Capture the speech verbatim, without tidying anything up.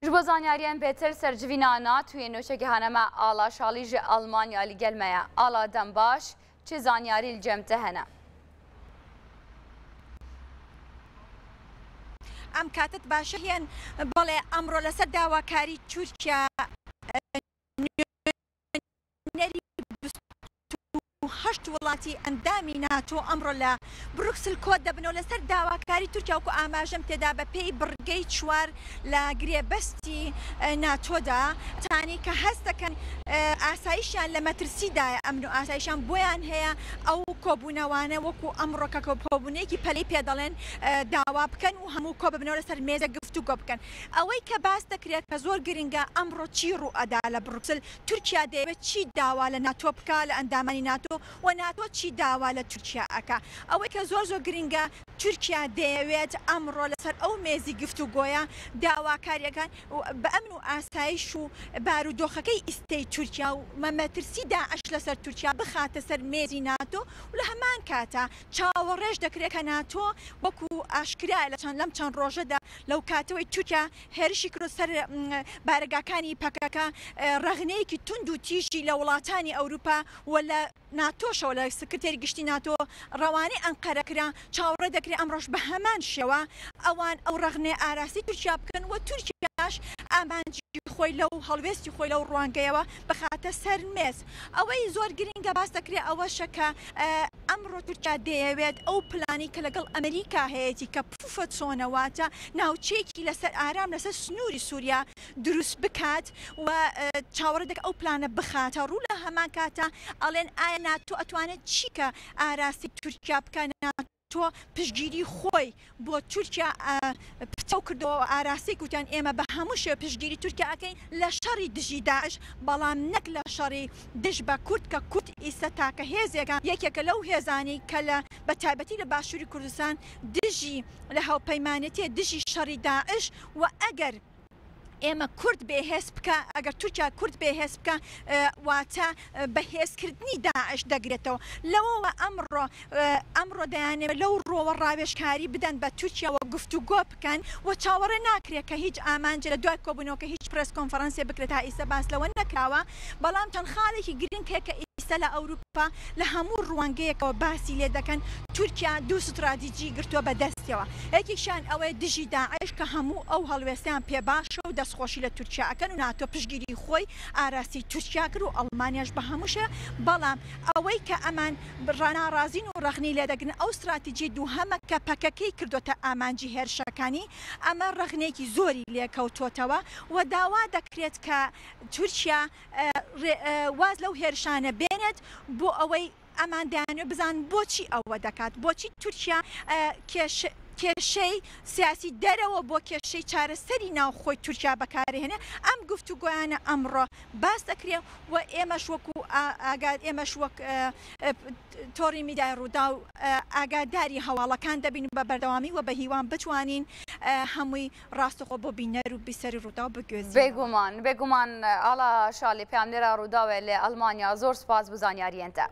Ji bo zanyariyên bêtir ser civîna NATOyê nûçegihana me Ala Şalî ji Almanya li gel me ye. Ala dem baş, çi zanyarî li cem te hene? ئەم کاتت باشە هێن. بەڵێ، ئەمڕۆ لەسەر داواکاری تورکیا نوێنەری هەشت وڵاتی ئەندامی ناتۆ ئەمڕۆ لە بروکسل کۆ دەبنەوە لەسەر داواکاری تورکیا. وکو ئاماژەم تێدا، بە پێی بڕگەی چوار لە گرێبەستی ناتۆدا، تانی کە هەست دەکەن ئاسایشیان لە مەترسیدایە، ئەمن و ئاسایشیان بۆیان هەیە، ئەو کۆبوونەوانە وەکو ئەمڕۆ کە کۆبوونێکی پەلەی پێدەڵێن داوا بکەن و هەموو کۆ ببنەوە لەسەر مێزە گفتوگۆ بکەن. ئەوەی کە باس دەکرێت کە زۆر گرنگە، ئەمڕۆ چی ڕوو ئەدا لە بروکسل، تورکیا دەیەوێت چی داوا لە ناتۆ بکە، لە ئەندامانی ناتۆ، و ناتۆ چی داوا لە تورکیا ئەکا. ئەوەی کە زۆر زۆر گرنگە، تورکیا دەیەوێت ئەمڕۆ لەسەر ئەو مێزی گفتوگۆیە داواکاریەکان بە ئەمن و ئاسایش و بارودۆخەکەی ئیستەی تورکیا و مەترسی داعش لەسەر تورکیا بخاتە سەر مێزی ناتۆ. و لە هەمان کاتا چاوەڕێش دەکرێت کە ناتۆ وەکو ئاشکرا لە چەند لەم چەند ڕۆژەدا، لەو کاتەوەی تورکیا هێرشی کرد سەر بارەگاکانی پەکەکە، ڕەخنەیەکی توند و تیژی لە وڵاتانی ئەوروپا و لە ناتۆشەوە، لە سکرتێری گشتی ناتۆ ڕەوانەی ئەنقەرە کرا. چاوەڕێ دەکرێت ئەمڕۆش بە هەمان شێوە ئەوان ئەو ڕەخنەیە ئاراستەی تورکیا بکەن و تورکیاش ئامانجی خۆی لەو هەڵوێستی خۆی لەو ڕوانگەیەوە بخاتە سەر مێز. ئەوەی زۆر گرنگە باس دەکرێت ئەوەشە کە ئەمڕۆ تورکیا دەیەوێت ئەو پلانی کە لەگەڵ ئەمریکا هەیەی کە buffer zone ە، واتە ناوچەیەکی لەسەر ئارام لەسەر سنووری سووریا دروست بکات، و چاوەڕێ دەکات ئەو پلانە بخاتە ڕوو. لە هەمان کاتە ئەڵێن ئایا ناتۆ ئەتوانێت چی کە ئاراستەی تورکیا بکە؟ ناتۆ پشتگیری خۆی بۆ تورکیا پتەو کردەوە، ئاراستەی کوتیان ئێمە بە هەموو شێ پشتگیری تورکیا ئەکەین لە شەڕی دژی داعش، بەڵام نەک لە شەڕی دژ بە کورد، کە کورد ئیستا تاکە هێزێکە، یەکێکە لەو هێزانی کە لە بە تایبەتی لە باشووری کوردستان دژی لە هاوپەیمانێتێ دژی شەڕی داعش. و ئەگەر ئێمە کورد بێهێز بکە، ئەگەر تورکیا کورد بێهێز بکە، واتە بەهێزکردنی داعش دەگرێتەوە. لەوەوە ئەمڕۆ ئەمڕۆ دەیانەوێت لەو ڕۆوە ڕاوێژکاری بدەن بە تورکیاوە، گفتوگۆ بکەن. و چاوەڕێ ناکرێت کە هیچ ئامانجە لە دوای کۆبوونەوە کە هیچ press conference ێ بکرێت، تا ئیستا باس لەوە نەکراوە. بەڵام چەند خاڵێکی گرنگ هەیە کە ئیستا لە ئەوروپا لە هەموو ڕوانگەیەکەوە باسی لێ دەکەن. تورکیا دوو ستراتیجی گرتووە بە دەستیەوە، یەکێکیان ئەوەیە دژی داعش کە هەموو ئەو هەڵوێستیان پێ باشە و دەستخۆشی لە تورکیا ئەکەن و ناتۆ پشتگیری خۆی ئاراستەی تورکیا کرد و ئەڵمانیاش بە هەمووشە. بەڵام ئەوەی کە ئەمان ڕاناڕازین و ڕەخنەی لێدەگرن ئەو استراتیجی دووهەمە کە پەکەکەی کردوتە ئامانجی هێرشەکانی. ئەمە ڕەخنێکی زۆری لێکەوتۆتەوە و داوا دەکرێت کە تورکیا واز لەو هێرشانە بێنێت، بۆ ئەوەی ئەمان دەیانوێت بزان بۆچی ئەوە دەکات، بۆچی تورکیا کێشەی سیاسی دەرەوە بۆ کێشەی چارەسەری ناوخۆی تورکیا بەکارهێنێ. ئەم گفتوگۆیانە ئەمڕۆ باس دەکرێت و ئێمەش وەکو ئاگاد ئێمەش وەک تۆڕی میدیای ڕوودا و ئاگاداری هەواڵەکان دەبین بە بەردەوامی و بە هیوان بتوانین هەمووی ڕاستەخۆ بۆ بینەر و بیسەری ڕوودا و بگوێزین. بێگومان، بێگومان. ئاڵا شالی، پەیامنێرا ڕووداوێ لە ئەڵمانیا، زۆر سپاس بۆ زانیاریەنتە.